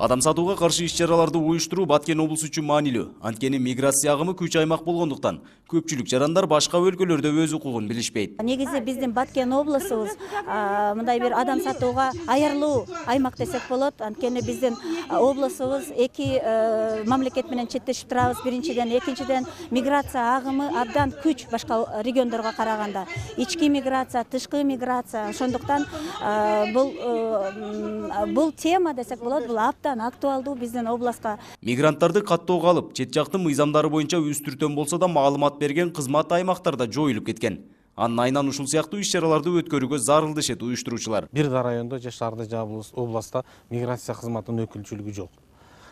Адам сатууга каршы иш-чараларды уюштуруу Баткен облусу үчүн маанилүү. Анткени миграция агымы күч аймак болгондуктан көпчүлүк жарандар башка өлкөлөрдө өз укугун билишпейт. Негизи биздин Баткен облусубуз мындай бир адам сатууга аярлуу аймак десек болот. Анткени биздин облусубуз эки мамлекет менен чектешип турабыз. Биринчиден, экинчиден миграция агымы абдан күч башка региондорго караганда. Ички миграция, тышкы миграция. Ошондуктан бул тема десек болот, бул актуалдуу биздин областка. Мигранттарды каттоого алып, чет жактын мыйзамдары боюнча үстүртөн болсо да маалымат берген кызмат аймактарда жоюлуп кеткен. Анын айынан ушул сыяктуу иш-чараларды өткөрүүгө зарыл дешет уюштуруучулар. Бир да райондо же шаарда же областта миграция кызматынын өкүлчүлүгү жок.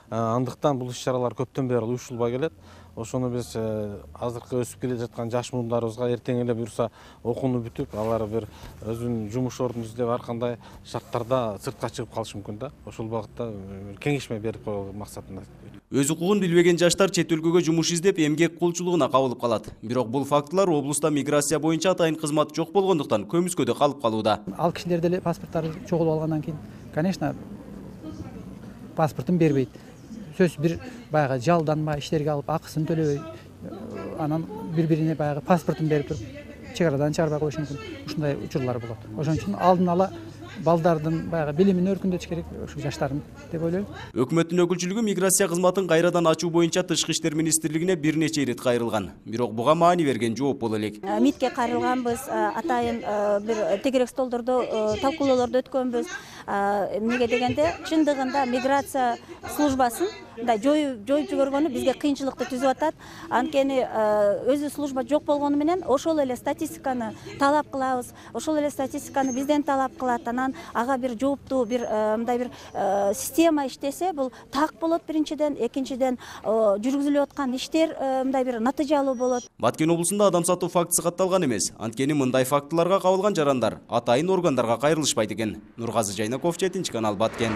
Андыктан бул иш-чаралар көптөн бери уюштурулбай келет. Ошону биз азыркы өсүп келе жаткан жаш муундарыбызга эртең эле буюрса окууну бүтүп, алар бир өзүнүн жумуш ордун издеп ар кандай шарттарда сыртка чыгып калышы мүмкүн да. Ошол багытта кеңешме берип коюу максатында. Өз укугун билбеген жаштар чет өлкөгө жумуш издеп эмгек кулчулугуна кабылып калат. Бирок бул фактылар облуста миграция боюнча атайын кызмат жок болгондуктан көмүскөдө калып калууда. Ал кишилер деле паспорттары чогулуп алгандан кийин, конечно, паспортун бербейт. Сөз бир баягы жалданма иштерге алып акысын төлөбөй, анан бири-бирине баягы паспортун берип туруп, чек-арадан чыгарбай коюшу мүмкүн. Ушундай учурлар болот. Ошон үчүн алдын ала балдардын баягы билимин өркүндөтүш керек, ошо жаштардын деп ойлойм. Өкмөттүн өкүлчүлүгү миграция кызматын кайрадан ачуу боюнча Тышкы иштер министрлигине бир нече ирет кайрылган. Бирок буга маани берген жооп боло элек. МИДке кайрылганбыз, атайын бир тегерек столдордо талкуулоолорду өткөнбүз. Эмнеге дегенде, чындыгында миграция службасын жоюп жибергөнү бизге кыйынчылыкты түзүп атат. Анткени өзү служба жок болгону менен ошол эле статистиканы талап кылабыз. Ошол эле статистиканы бизден талап кылат. Анан ага бир жооптуу бир мындай бир система иштесе, бул так болот биринчиден, экинчиден жүргүзүлүп аткан иштер мындай бир натыйжалуу болот. Баткен облусунда адам сатуу фактысы катталган эмес. Анткени мындай фактыларга кабылган жарандар атайын органдарга кайрылышпайт экен. Нургазы Жайнаков, 7 канал, Баткен.